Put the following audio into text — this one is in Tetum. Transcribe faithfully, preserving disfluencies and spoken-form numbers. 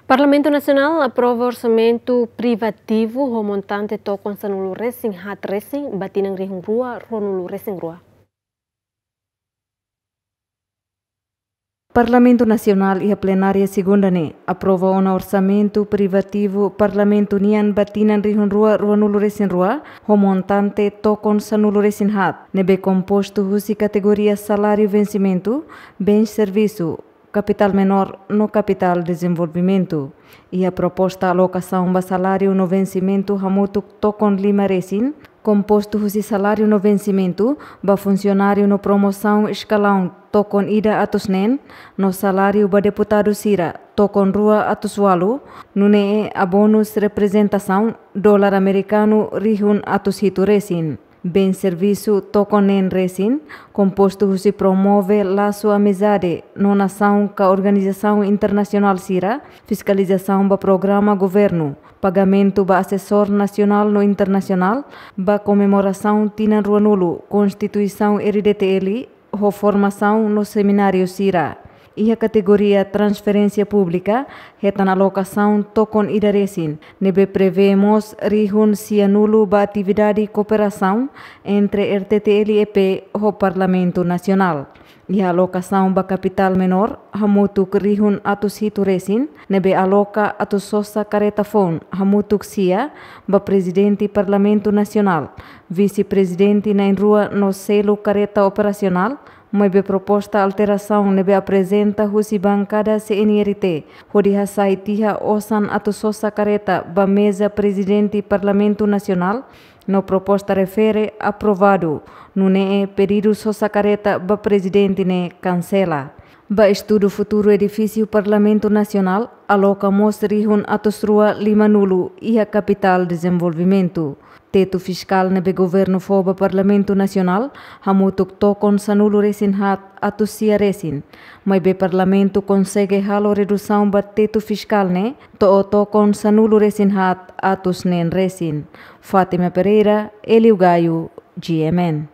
Parlamentu Nasionál aprova orsamentu privativu ho montante tokon sanulu resin haat resin ba tinan rihun rua ruanulu resin rua. Parlamentu Nasionál iha plenária segunda ne'e aprova ona orsamentu privativu Parlamentu nian ba tinan rihun rua ruanulu resin rua, ho montante tokon sanulu resin haat, ne'ebé kompostu husi kategoria saláriu vensimentu, bens servisu, kapitál menór no kapitál dezenvolvimentu. Iha proposta alokasaun ba saláriu no vensimentu hamutuk tokon lima resin, kompostu husi saláriu no vensimentu ba funsionáriu no promosaun eskalaun tokon ida atus neen, no saláriu ba deputadu sira tokon rua atus ualu, nune'e abónus reprezentasaun dolar amerikanu rihun atus hitu resin. Bens servisu tokon neen resin, kompostu husi promove lasu amizade no nasaun ka organizasaun internasionál sira, fiskalizasaun ba programa governu, pagamentu ba asesór nasionál no internasionál ba komemorasaun tinan ruanulu Konstituisaun R D T L, ho formasaun no semináriu sira. Iha kategoria transferénsia públika, hetan alokasaun tokon ida resin, ne'ebé prevee mós rihun sianulu ba atividade kooperasaun entre R T T L E P ho Parlamentu Nasionál. Iha alokasaun ba kapitál menór, hamutuk rihun atus hitu resin, ne'ebé aloka atus sosa karreta foun, hamutuk sia, ba Prezidente Parlamentu Nasionál, Vise-Prezidente na'in-rua no selu karreta operasionál, maibé proposta alterasaun ne'ebé aprezenta husi bankada C N R T, hodi hasai tiha osan atus sosa karreta ba meza Prezidente Parlamentu Nasionál, no proposta refere aprovadu, nune'e pedidu sosa karreta ba Prezidente ne'e kansela. Ba estudu futuru edifísiu Parlamentu Nasionál, aloka mós rihun atus rua limanulu iha kapitál dezenvolvimentu. Tetu fiskál ne'ebé governu fó ba Parlamentu Nasionál, hamutuk tokon sanulu resin haat atus sia resin. Maibé Parlamentu konsege halo redusaun ba tetu fiskál ne'e, to'o tokon sanulu resin haat atus neen resin. Fátima Pereira, Hélio Gaio, G M N.